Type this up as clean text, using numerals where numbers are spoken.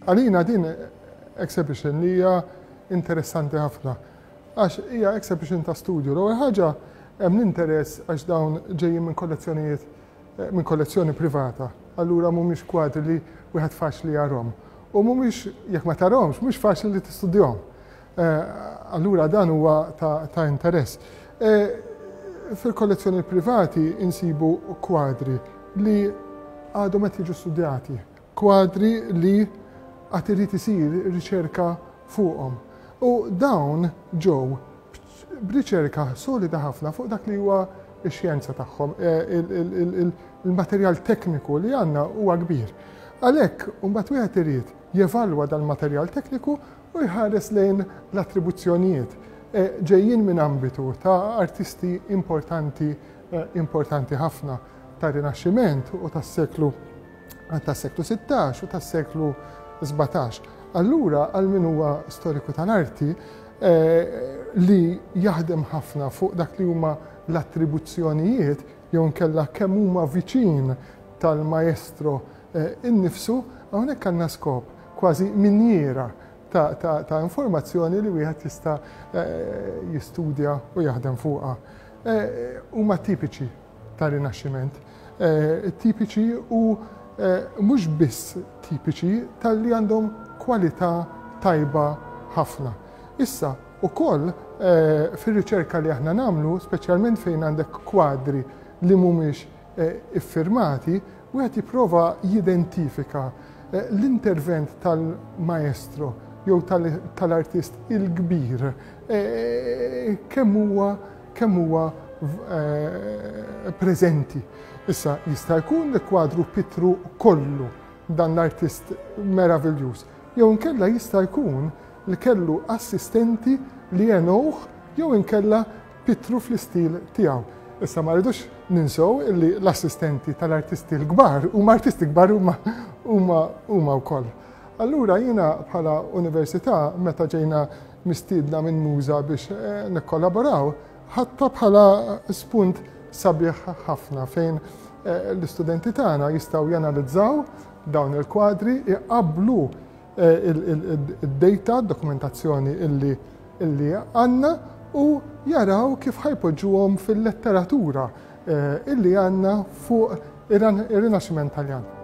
Għalina din exhibition li hija interessanti ħafna għax hija exhibition ta' studju. L-ewwel ħaġa hemm l-interess għax dawn ġejjin minn kollezzjonijiet eh, minn kollezzjoni privata. Allura mhumiex kwadri li wieħed faċli jarhom. U mhumiex jekk ma tarhomx, mhux faċli li tistudjahom. Eh, allura dan huwa ta', ta interess. Eh, fil-kollezzjoni privati insibu kwadri li għadhom qed jiġu studjati, kwadri li għad irid isir riċerka fuqhom. U dawn ġew b'riċerka solida ħafna fuq dak li huwa x-xjenza tagħhom, eh, il-materjal tekniku li għandna huwa kbir. Għalhekk, mbagħad wieħed irid jevalwa dal-materjal tekniku u jħares lejn l-attribuzzjonijiet eh, ġejjin minn ambitu ta' artisti importanti eh, importanti ħafna ta' Rinaxximent u tas-seklu tas-seklu 16 u tas-seklu 17. Allura għal min huwa storiku tal-arti eh, li jaħdem ħafna fuq dak li huma l-attribuzzjonijiet jew nkella kemm huma viċin tal-maestro eh, innifsu, hawnhekk għandna skop kważi minjiera ta', ta, ta informazzjoni li wieħed jista' eh, jistudja u jaħdem fuqha. Huma tipiċi ta' rinaxximent, eh, tipiċi u eh, mhux biss tipiċi talli għandhom kwalità tajba ħafna. Issa, ukoll eh, fir-riċerka li aħna nagħmlu, speċjalment fejn għandek kwadri li mhumiex iffirmati, wieħed jipprova jidentifika l-intervent tal-maestro jew tal-artist il-kbir kemm huwa kemm huwa preżenti. Issa jista' jkun li kwadru pittru kollu dan l-artist meraviljuż. Jew inkella jista' jkun li kellu assistenti li għenuh jew inkella pittru fl-istil tiegħu. Issa ma rridux ninsew illi l-assistenti tal-artisti l-kbar huma artisti kbar huma huma huma wkoll. Allura jiena bħala università meta ġejna mistiedna minn Muża biex eh, nikkollaboraw, ħadtha bħala spunt sabiħ ħafna fejn eh, l-istudenti tagħna jistgħu janalizzaw dawn il-kwadri, iqablu eh, il-data, dokumentazzjoni illi illi għandna u jaraw kif ħa jpoġġuhom fil-letteratura illi għandna fuq ir-Rinaxximent Taljan.